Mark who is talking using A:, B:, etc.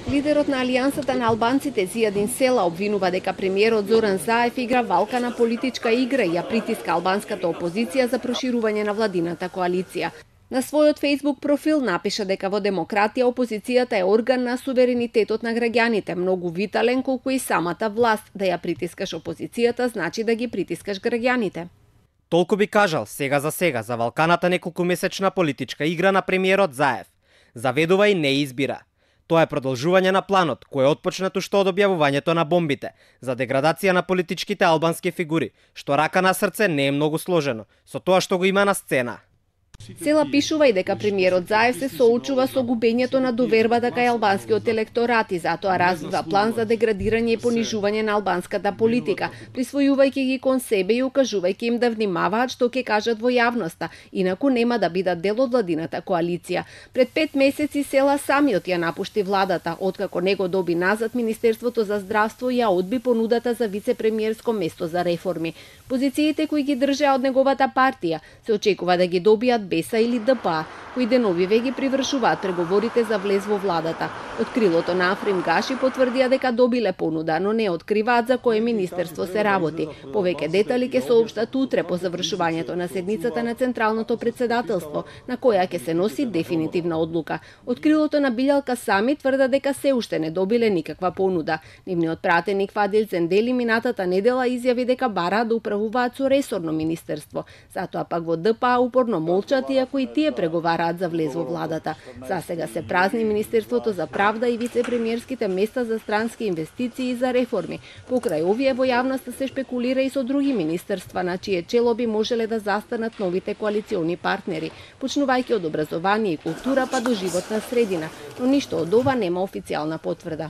A: Лидерот на Алијансата на албанците Зијадин Села обвинува дека премиерот Зоран Заев игра валкана политичка игра и ја притиска албанската опозиција за проширување на владината коалиција. На својот Facebook профил напиша дека во демократија опозицијата е орган на суверенитетот на граѓаните, многу витален колку и самата власт. Да ја притискаш опозицијата значи да ги притискаш граѓаните.
B: Толку би кажал сега за валканата неколкумесечна политичка игра на премиерот Заев. Заведува и не избира. Тоа е продолжување на планот, кој е отпочнат уште од објавувањето на бомбите, за деградација на политичките албански фигури, што рака на срце не е многу сложено, со тоа што го има на сцена.
A: Села пишува и дека премиерот Заев се соочува со губењето на довербата кај албанскиот електорат и затоа развива план за деградирање и понижување на албанската политика, присвојувајќи ги кон себе и укажувајќи им да внимаваат што ќе кажат во јавноста, инаку нема да бидат дел од владината коалиција. Пред 5 месеци Села самиот ја напушти владата, откако него доби назад Министерството за здравство и ја одби понудата за вице-премиерско место за реформи. Позициите кои ги држеа од неговата партија се очекува да ги добијат БЕСА или ДПА, кои деновиве ги привршуваат преговорите за влез во владата. Од крилото на Африм Гаши потврдија дека добиле понуда, но не откриваат за кое министерство се работи. Повеќе детали ќе соопштат утре по завршувањето на седницата на Централното председателство, на која ќе се носи дефинитивна одлука. Од крилото на Билјалка сами тврдат дека се уште не добиле никаква понуда. Нивниот пратеник Фадил Зендели минатата недела изјави дека бараат да управуваат со ресорно министерство. Затоа пак во ДПА упорно молчат, иако и тие преговараат за влез во владата. За сега се празни Министерството за правда и вице-премиерските места за странски инвестиции и за реформи. Покрај овие во јавноста се шпекулира и со други министерства, на чие чело би можеле да застанат новите коалициони партнери, почнувајќи од образование и култура па до животна средина, но ништо од ова нема официјална потврда.